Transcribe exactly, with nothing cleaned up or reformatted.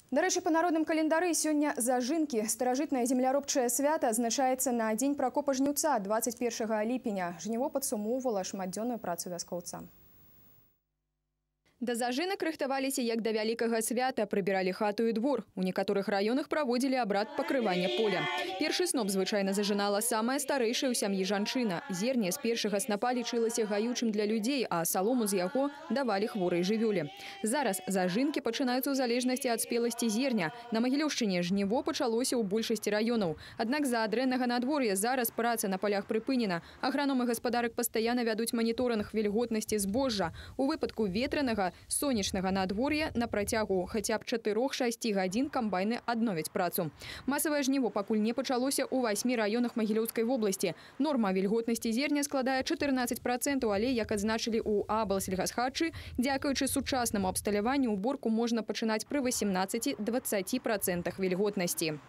Дарэчы, па народным календары сёння зажынкі. Старажытнае земляробчае свята азначаецца на дзень пракопа жніўца дваццаць першага ліпеня. Жніво падсумоўвала шматдзённую працу вяскоўца. Да зажынак рыхтаваліся як да вялікага свята, прыбіралі хату і двор. У некаторых раёнах праводзілі абрад пакрывання поля. Першы сноп звычайна зажынала самая старэйшая ў сям'і жанчына. Зерне з першага снапа лічылася гаючым для людзей, а салому з яго давалі хворай жывёле. Зараз зажынкі пачынаюцца ў залежнасці ад спеласці зерня. На Магілёўшчыне жніво пачалося ў большасці раёнаў. Аднак з-за дрэннага надвор'я зараз праца на полях прыпынена. Аграномы гаспадарак пастаянна вядуць маніторынг вільготнасці збожжа. У выпадку ветранага сонечнага надвор'я на працягу хаця б чатырох-шасці гадзін камбайны адновяць працу. Масавае жніво пакуль не пачалося ў васьмі раёнах Магілёўскай вобласці. Норма вільготнасці зерня складае чатырнаццаць працэнтаў, але, як адзначылі ў аблсельгасхатчы, дзякуючы сучаснаму абсталяванню уборку можна пачынаць пры васемнаццаці-дваццаці працэнтах вільготнасці.